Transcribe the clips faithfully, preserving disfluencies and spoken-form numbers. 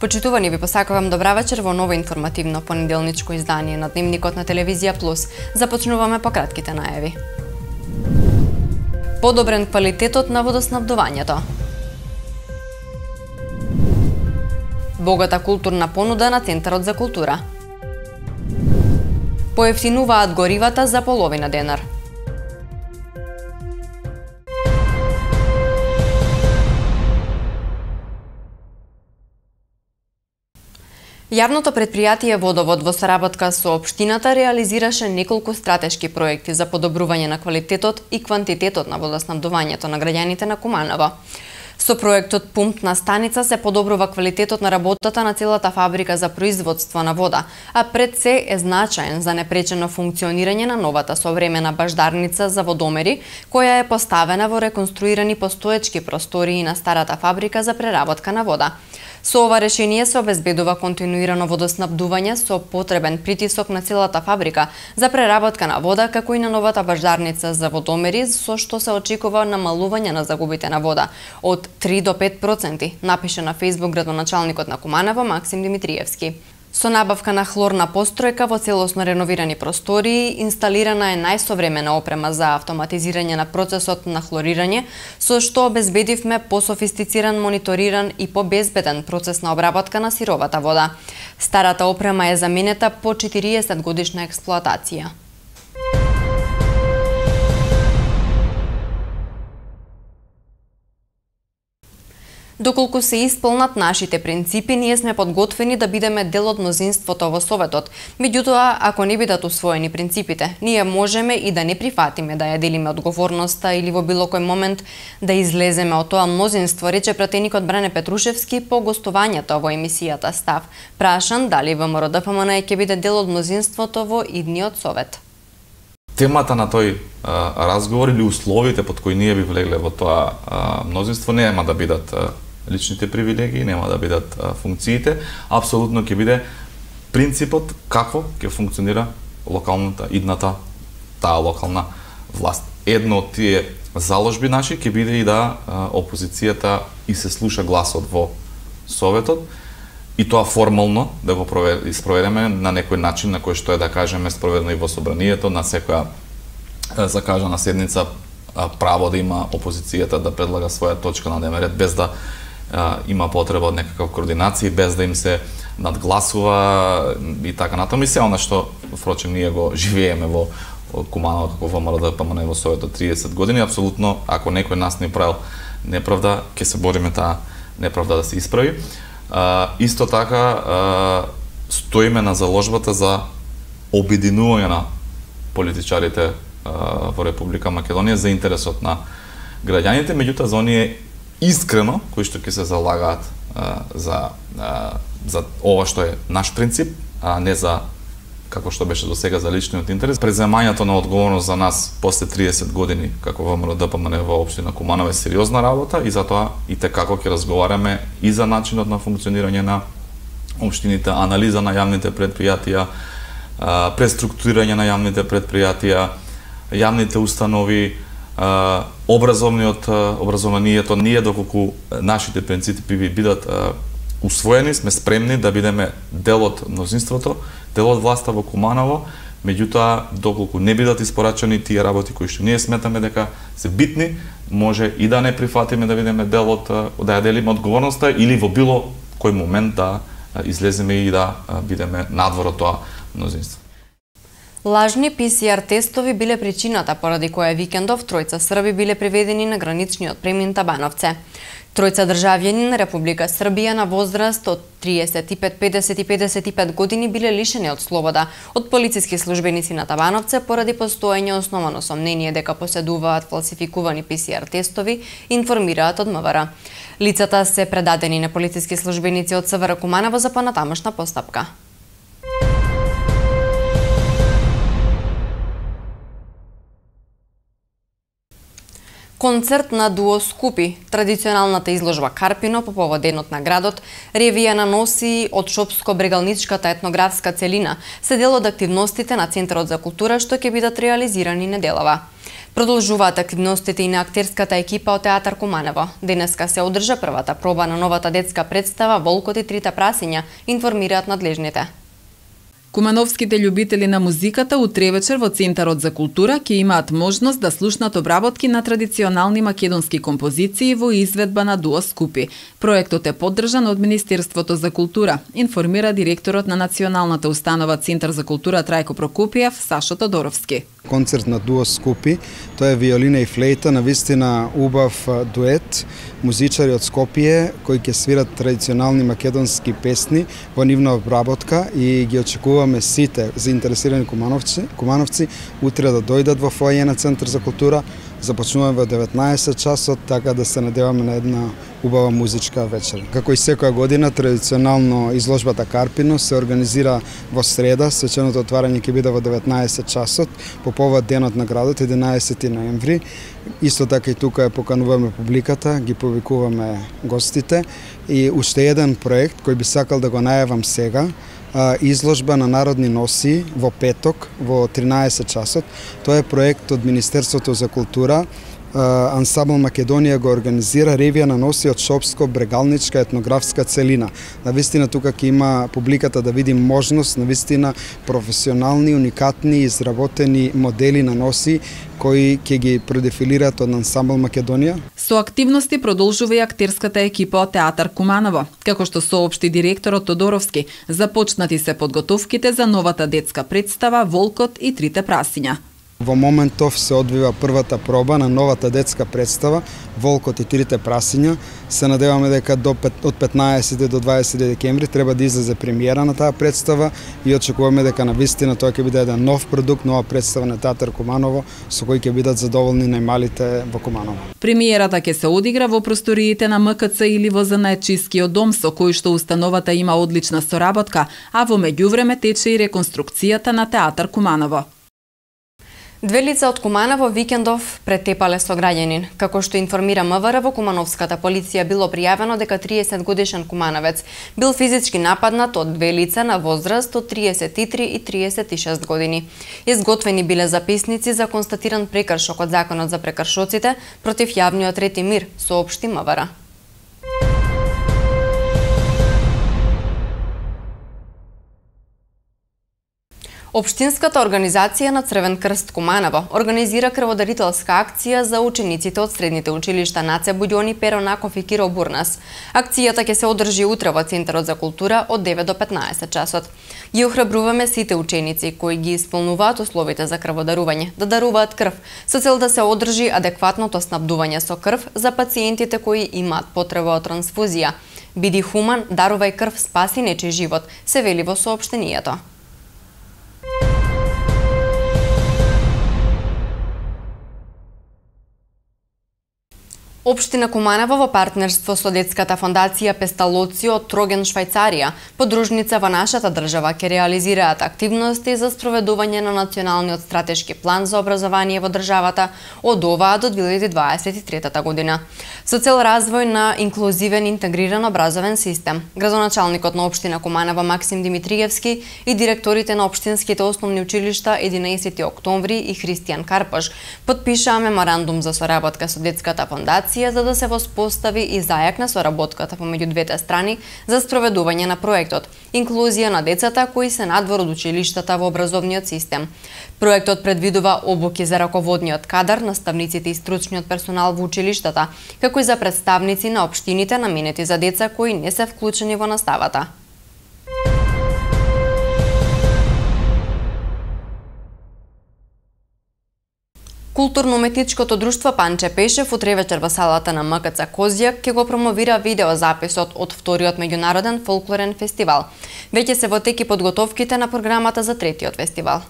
Почитувани, ви посакувам добра вечер во ново информативно понеделничко издание на Дневникот на Телевизија Плюс. Започнуваме по кратките најави. Подобрен квалитетот на водоснабдувањето. Богата културна понуда на Центарот за култура. Поевтинуваат горивата за половина денар. Јавното претпријатие Водовод во соработка со општината реализираше неколку стратешки проекти за подобрување на квалитетот и квантитетот на водоснабдувањето на граѓаните на Куманово. Со проектот Пумпна станица се подобрува квалитетот на работата на целата фабрика за производство на вода, а пред се е значаен за непречено функционирање на новата современа баждарница за водомери, која е поставена во реконструирани постоечки простории на старата фабрика за преработка на вода. Со ова решение се обезбедува континуирано водоснабдување со потребен притисок на целата фабрика за преработка на вода, како и на новата баждарница за водомери, со што се очекува намалување на загубите на вода од три до пет проценти, напише на Фејсбук градоначалникот на Куманово Максим Димитриевски. Со набавка на хлорна постројка во целосно реновирани простории, инсталирана е најсовремена опрема за автоматизирање на процесот на хлорирање, со што обезбедивме пософистициран, мониториран и побезбеден процес на обработка на сировата вода. Старата опрема е заменета по четириесет годишна експлоатација. Доколку се исполнат нашите принципи, ние сме подготвени да бидеме дел од мнозинството во Советот. Меѓутоа, ако не бидат усвоени принципите, ние можеме и да не прифатиме да ја делиме одговорноста или во било кој момент да излеземе од тоа мнозинство, рече пратеникот Бране Петрушевски по гостувањето во емисијата Став. Прашан дали ВМРО Д П М Н ќе биде дел од мнозинството во идниот Совет. Темата на тој а, разговор или условите под кои ние би влегле во тоа а, мнозинство нема да бидат а, личните привилегии, нема да бидат а, функциите, апсолутно ќе биде принципот како ќе функционира локалната, идната, таа локална власт. Едно од тие заложби наши ќе биде и да а, опозицијата и се слуша гласот во Советот, и тоа формално да го испроведеме на некој начин на кој што е, да кажеме, спроведено и во собранието, на секоја закажана седница право да има опозицијата да предлага своја точка на дневен ред, без да а, има потреба од некаква координација, без да им се надгласува и така натаму. И се она што, впрочем, ние го живееме во Куманово како ВМРО Д П М Н во Советот триесет години, апсолутно, ако некој нас не правил неправда, ќе се бориме таа неправда да се исправи. Uh, исто така uh, стоиме на заложбата за обединување на политичарите uh, во Република Македонија за интересот на граѓаните, меѓутоа за оние искрено кои што ќе се залагаат uh, за uh, за ова што е наш принцип, а не за како што беше до сега за личниот интерес. Преземањето на одговорност за нас после триесет години како ВМРО Д П М Н во општина Куманово е сериозна работа и затоа и текако ќе разговараме и за начинот на функционирање на општините, анализа на јавните предпријатија, преструктурирање на јавните предпријатија, јавните установи, образовниот образованието. Ние доколку нашите принципи би бидат усвоени, сме спремни да бидеме дел од мнозинството, дел од власта во Куманово, меѓутоа доколку не бидат испорачани тие работи кои што ние сметаме дека се битни, може и да не прифатиме да бидеме дел од, да ја делиме одговорноста или во било кој момент да излеземе и да бидеме надвор од тоа мнозинство. Лажни П С Р тестови биле причината поради која викендов тројца срби биле приведени на граничниот премин Табановце. Тројца државјани на Република Србија на возраст од триесет и пет, педесет и педесет и пет години биле лишени од слобода од полициски службеници на Табановце поради постоење основано сомнение дека поседуваат фалсификувани П С Р тестови, информираат од М В Р. Лицата се предадени на полициски службеници од С В Р Куманово за понатамошна постапка. Концерт на дуо Скупи, традиционалната изложба Карпино по повод денот на градот, ревија на носи од Шопско-брегалничката етнографска целина, се дел од активностите на Центарот за култура што ќе бидат реализирани неделава. Продолжуваат активностите и на актерската екипа од Театар Куманово. Денеска се одржа првата проба на новата детска представа Волкот и трите прасиња, информираат надлежните. Кумановските љубители на музиката утре вечер во Центарот за култура ќе имаат можност да слушнат обработки на традиционални македонски композиции во изведба на дуо Скупи. Проектот е поддржан од Министерството за култура, информира директорот на Националната установа Центар за култура Трајко Прокопиев, Сашо Тодоровски. Концерт на дуо Скупи, тоа е виолина и флейта, навистина убав дует, музичари од Скопје кои ќе свират традиционални македонски песни во нивна обработка и ги очекуваме сите заинтересирани кумановци, кумановци утре да дојдат во фоаје на Центар за култура. Започнуваме во деветнаесет часот, така да се надеваме на една убава музичка вечер. Како и секоја година, традиционално изложбата Карпино се организира во среда, свеченото отварање ќе биде во деветнаесет часот, по повод денот на градот, единаесети ноември. Исто така и тука покануваме публиката, ги повикуваме гостите и уште еден проект кој би сакал да го најавам сега, изложба на народни носи во петок во тринаесет часот. Тоа е проект од Министерството за култура. Ансамбл Македонија го организира ревија на носи од шопско-брегалничка етнографска целина. Навистина тука ќе има публиката да види можност, навистина професионални, уникатни, изработени модели на носи кои ќе ги продефилираат од Ансамбл Македонија. Со активности продолжува и актерската екипа од Театар Куманово. Како што соопшти директорот Тодоровски, започнати се подготовките за новата детска представа Волкот и трите прасиња. Во моментов се одвива првата проба на новата детска представа Волкот и трите прасиња. Се надеваме дека до од петнаесети до дваесети декември треба да излезе премиера на таа представа и очекуваме дека навистина тоа ќе биде еден нов продукт, нова представа на Театар Куманово со кој ќе бидат задоволни најмалите во Куманово. Премиерата ќе се одигра во просториите на М К Ц или во Занаетчискиот дом, со кој што установата има одлична соработка, а во меѓувреме тече и реконструкцијата на Театар Куманово. Две лица од Куманово викендов претепале со граѓанин. Како што информира М В Р, во Кумановската полиција било пријавено дека триесет годишен кумановец бил физички нападнат од две лица на возраст од триесет и три и триесет и шест години. Изготвени биле записници за констатиран прекршок од Законот за прекршоците против јавниот ред и мир, соопшти М В Р. Општинската организација на Црвен крст Куманово организира крводарителска акција за учениците од средните училишта Наце Буѓони, Перо Наков и Киро Бурнас. Акцијата ќе се одржи утре во Центарот за култура од девет до петнаесет часот. Ги охрабруваме сите ученици кои ги исполнуваат условите за крводарување да даруваат крв со цел да се одржи адекватното снабдување со крв за пациентите кои имаат потреба од трансфузија. Биди хуман, дарувај крв, спаси нечи живот, се вели во соопштението. Општина Куманово во партнерство со детската фондација Песталоцио од Троген, Швајцарија, подружница во нашата држава, ќе реализираат активности за спроведување на националниот стратешки план за образование во државата од оваа до две илјади дваесет и трета година. Со цел развој на инклузивен интегриран образовен систем, градоначалникот на општина Куманово Максим Димитриевски и директорите на општинските основни училишта единаесети октомври и Христијан Карпаш потпишаа меморандум за соработка со детската фондација за да се воспостави и зајакне соработката помеѓу двете страни за спроведување на проектот инклузија на децата кои се надвор од училиштата во образовниот систем. Проектот предвидува обуки за раководниот кадар, наставниците и стручниот персонал во училиштата, како и за представници на општините наменети за деца кои не се вклучени во наставата. Културно-уметничкото друштво Панче Пешев утре вечер во салата на М К Ц Козјак ќе го промовира видеозаписот од вториот меѓународен фолклорен фестивал. Веќе се во тек и подготовките на програмата за третиот фестивал.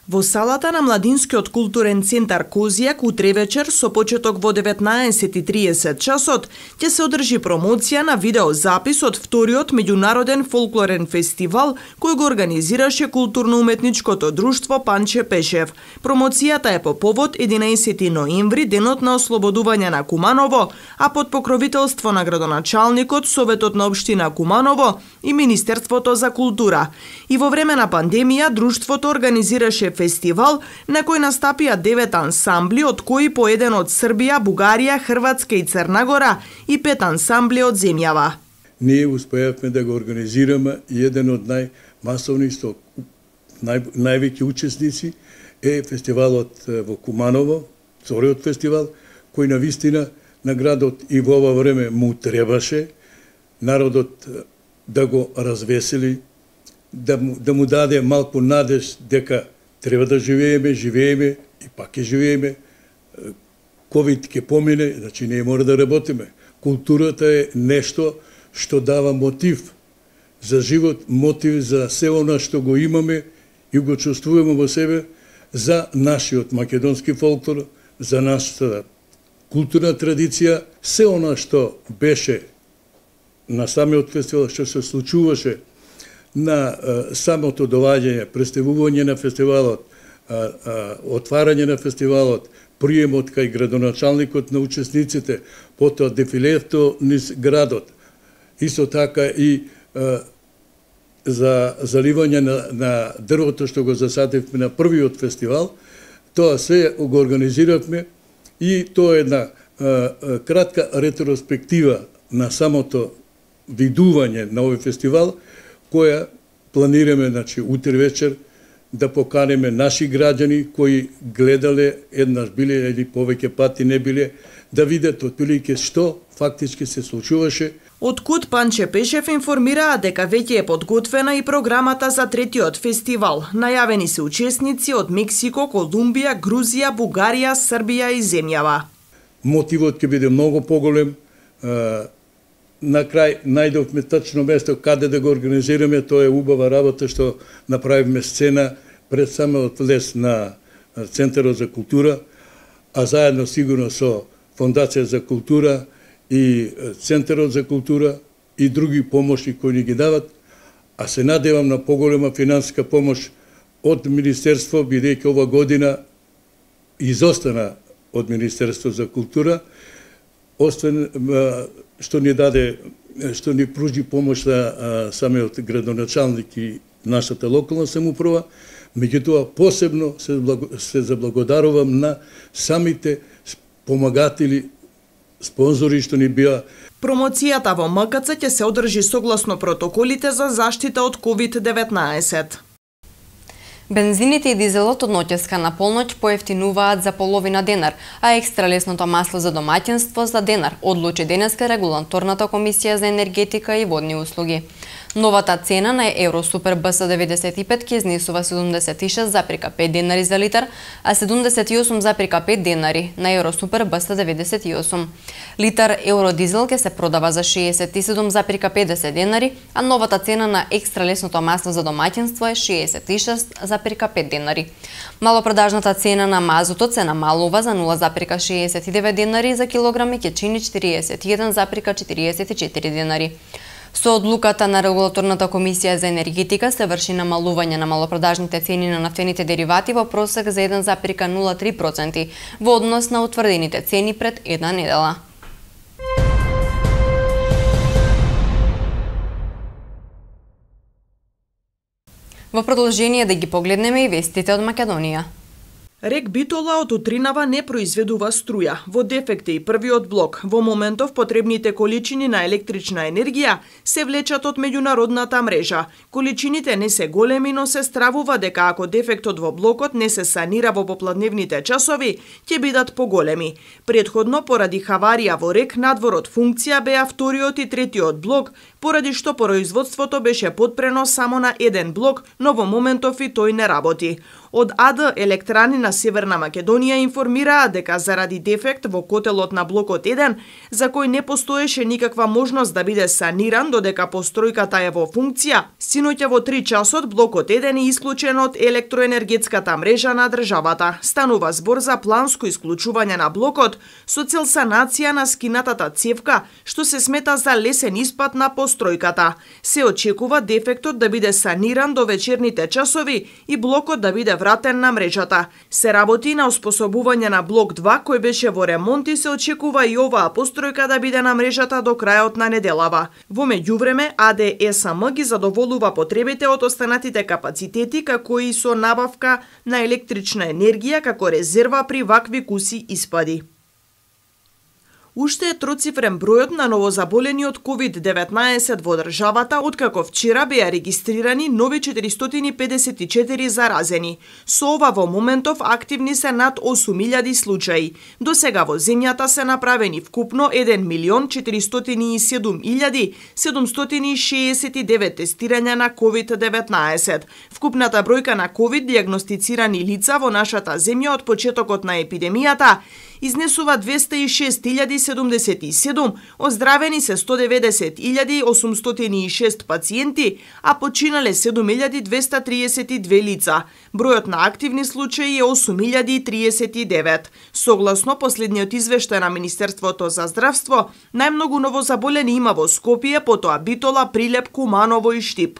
Во салата на Младинскиот културен центар Козјак утре вечер со почеток во деветнаесет и триесет часот ќе се одржи промоција на видеозапис од вториот меѓународен фолклорен фестивал кој го организираше културно-уметничкото друштво Панче Пешев. Промоцијата е по повод единаесети ноември, денот на ослободување на Куманово, а под покровителство на градоначалникот, Советот на општина Куманово и Министерството за култура. И во време на пандемија друштвото организираше фестивал на кој настапија девет ансамбли, од кои по еден од Србија, Бугарија, Хрватска и Црна Гора и пет ансамбли од земјава. Ние успеавме да го организираме и еден од најмасовни, нај, највеќе учесници е фестивалот во Куманово, вториот фестивал, кој навистина на градот и во ова време му требаше народот да го развесели, да му, да му даде малку надеж дека треба да живееме, живееме и пак ќе живееме. ковид ќе помине, значи ние мора да работиме. Културата е нешто што дава мотив за живот, мотив за се она што го имаме и го чувствуваме во себе, за нашиот македонски фолклор, за нашата културна традиција, се она што беше на самиот фестивал, што се случуваше на а, самото доаѓање, представување на фестивалот, а, а, отварање на фестивалот, приемот кај градоначалникот на учесниците, потоа дефилето низ градот, исто така и а, за заливање на, на дрвото што го засадивме на првиот фестивал, тоа се го организиравме и тоа е една а, а, кратка ретроспектива на самото видување на овој фестивал, која планираме, значи, утре вечер да поканеме наши граѓани кои гледале, еднаш биле или повеќе пати не биле, да видат отприлике што фактички се случуваше. Од КУД Панче Пешев информираа дека веќе е подготвена и програмата за третиот фестивал. Најавени се учесници од Мексико, Колумбија, Грузија, Бугарија, Србија и земјава. Мотивот ќе биде многу поголем. На крај најдовме тачно место каде да го организираме, тоа е убава работа што направивме сцена пред самиот влез на Центарот за култура, а заедно сигурно со Фондација за култура и Центарот за култура и други помоши кои ни ги дават, а се надевам на поголема финансиска помош од Министерство, бидејќи ова година изостана од Министерство за култура, освен што ни даде, што ни пружи помош за самиот градоначалник и нашата локална самоуправа, меѓутоа посебно се, благо, се заблагодарувам на самите помагатели, спонзори што ни бија. Промоцијата во МКЦ ќе се одржи согласно протоколите за заштита од ковид деветнаесет. Бензините и дизелот од ноќеска на полноќ поевтинуваат за половина денар, а екстра лесното масло за домаќинство за денар, одлучи денеска Регулаторната комисија за енергетика и водни услуги. Новата цена на Евро Супер Б С деветдесет и пет ќе изнесува седумдесет и шест запирка пет денари за литар, а седумдесет и осум запирка пет денари на Евро Супер Б С деветдесет и осум. Литар Евро Дизел ќе се продава за шеесет и седум запирка педесет денари, а новата цена на екстра лесното масло за домаќинство е шеесет и шест запирка пет денари. Малопродажната цена на мазутот се намалува за нула запирка шеесет и девет денари за килограм и ќе чини четириесет и еден запирка четириесет и четири денари. Со одлуката на Регулаторната комисија за енергетика се врши намалување на малопродажните цени на нафтените деривати во просек за еден запирка нула три проценти во однос на утврдените цени пред една недела. Во продолжение да ги погледнеме и вестите од Македонија. Рек Битола од утринава не произведува струја. Во дефект е и првиот блок. Во моментов потребните количини на електрична енергија се влечат од меѓународната мрежа. Количините не се големи, но се стравува дека ако дефектот во блокот не се санира во попладневните часови, ќе бидат поголеми. Предходно, поради хаварија во Рек, надвор од функција беа вториот и третиот блок, поради што производството беше подпрено само на еден блок, но во моментов и тој не работи. Од АД Електрани на Северна Македонија информираа дека заради дефект во котелот на блокот еден, за кој не постоеше никаква можност да биде саниран додека постројката е во функција, синоќа во три часот блокот еден е исклучен од електроенергетската мрежа на државата. Станува збор за планско исклучување на блокот со цел санација на скинатата цевка, што се смета за лесен испад на постројката. Се очекува дефектот да биде саниран до вечерните часови и блокот да биде вратен на мрежата. Се работи на оспособување на блок два кој беше во ремонт и се очекува и оваа постројка да биде на мрежата до крајот на неделава. Во меѓувреме А Д С М ги задоволува потребите од останатите капацитети како и со набавка на електрична енергија како резерва при вакви куси испади. Уште е троцифрен бројот на новозаболени од ковид деветнаесет во државата, откако вчера беа регистрирани нови четиристотини педесет и четири заразени. Со ова во моментов активни се над осум илјади случаи. До сега во земјата се направени вкупно еден милион четиристотини и седум илјади седумстотини и шеесет и девет тестирања на ковид деветнаесет. Вкупната бројка на ковид дијагностицирани лица во нашата земја од почетокот на епидемијата изнесува двесте и шест илјади седумдесет и седум, оздравени се сто деветдесет илјади осумстотини и шест пациенти, а починале седум илјади двесте триесет и две лица. Бројот на активни случаи е осум илјади триесет и девет. Согласно последниот извештај на Министерството за здравство, најмногу новозаболени има во Скопје, потоа Битола, Прилеп, Куманово и Штип.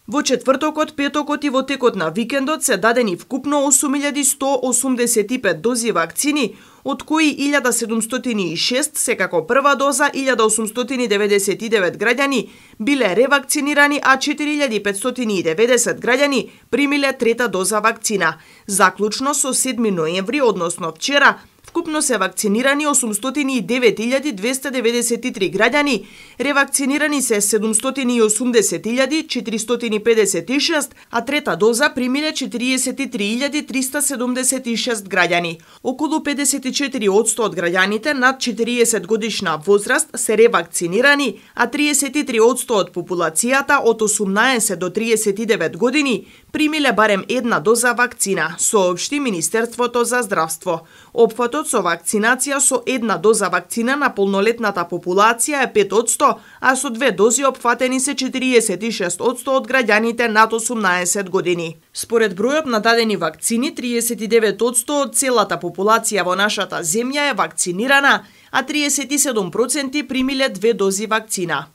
Во четвртокот, петокот и во текот на викендот се дадени вкупно осум илјади сто осумдесет и пет дози вакцини, од кои илјада седумстотини и шест се како прва доза, илјада осумстотини деветдесет и девет граѓани биле ревакцинирани, а четири илјади петстотини и деветдесет граѓани примиле трета доза вакцина. Заклучно со седми ноември, односно вчера, вкупно се вакцинирани осумстотини и девет илјади двесте деветдесет и три граѓани, ревакцинирани се седумстотини и осумдесет илјади четиристотини педесет и шест, а трета доза примиле четириесет и три илјади триста седумдесет и шест граѓани. Околу педесет и четири одсто од граѓаните над четириесет годишна возраст се ревакцинирани, а триесет и три одсто од популацијата од осумнаесет до триесет и девет години примиле барем една доза вакцина, соопшти Министерството за здравство. Опфатот со вакцинација со една доза вакцина на полнолетната популација е пет одсто, а со две дози опфатени се четириесет и шест одсто од граѓаните над осумнаесет години. Според бројот на дадени вакцини, триесет и девет одсто од целата популација во нашата земја е вакцинирана, а триесет и седум проценти примиле две дози вакцина.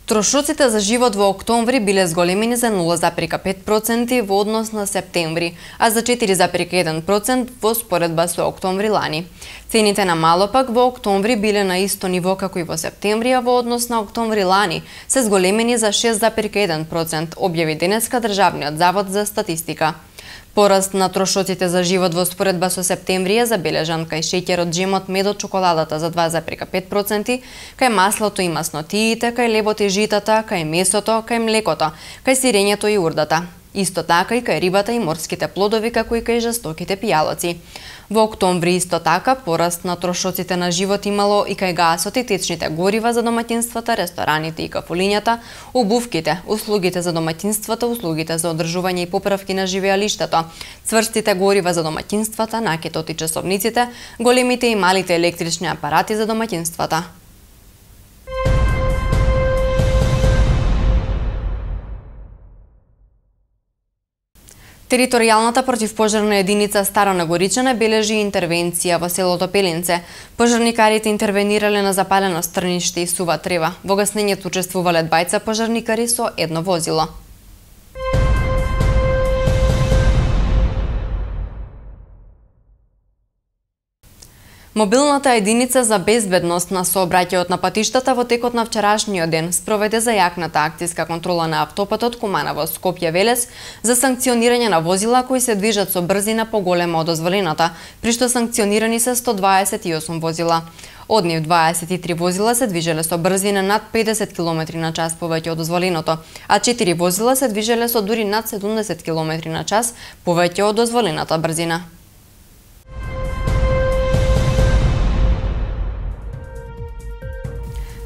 Трошоците за живот во октомври биле зголемени за нула запирка пет проценти во однос на септември, а за четири запирка еден процент во споредба со октомври лани. Цените на мало пак во октомври биле на исто ниво како и во септември, а во однос на октомври лани се зголемени за шест запирка еден процент, објави денеска Државниот завод за статистика. Пораст на трошоците за живот во споредба со септември е забележан кај шеќерот, джемот, медот, чоколадата за два запирка пет проценти, кај маслото и маснотиите, кај лебот и житата, кај месото, кај млекото, кај сирењето и урдата. Исто така и кај рибата и морските плодови, како и кај жестоките пијалоци. Во октомври исто така пораст на трошоците на живот имало и кај гасот и течните горива за домаќинствата, рестораните и кафулињата, обувките, услугите за домаќинствата, услугите за одржување и поправки на живеалиштето, цврстите горива за домаќинствата, накетот и часовниците, големите и малите електрични апарати за домаќинствата. Територијалната противпожарна единица Стара Горичана бележи интервенција во селото Пеленце. Пожарникарите интервенирале на запалено стрниште и сува трева. Во гаснењето учествувале двајца пожарникари со едно возило. Мобилната единица за безбедност на сообраќајот на патиштата во текот на вчерашниот ден спроведе зајакната акцијска контрола на автопатот Куманово Скопје Велес за санкционирање на возила кои се движат со брзина поголема од дозволената, при што санкционирани се сто дваесет и осум возила. Од нив дваесет и три возила се движеле со брзина над педесет километри на час повеќе од дозволеното, а четири возила се движеле со дури над седумдесет километри на час повеќе од дозволената брзина.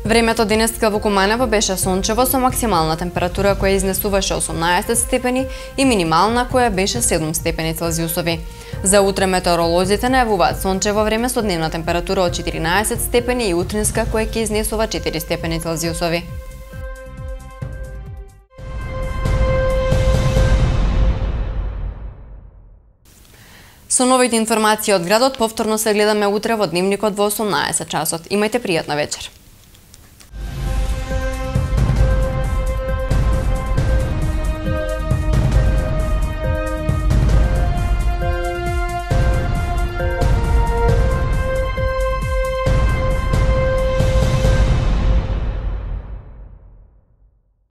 Времето денеска во Куманово беше сончево со максимална температура која изнесуваше осумнаесет степени и минимална која беше седум степени Целзиусови. За утре метеоролозите најавуваат сончево време со дневна температура од четиринаесет степени и утринска која ќе изнесува четири степени Целзиусови. Со новите информации од градот повторно се гледаме утре во Дневникот во осумнаесет часот. Имајте пријатна вечер.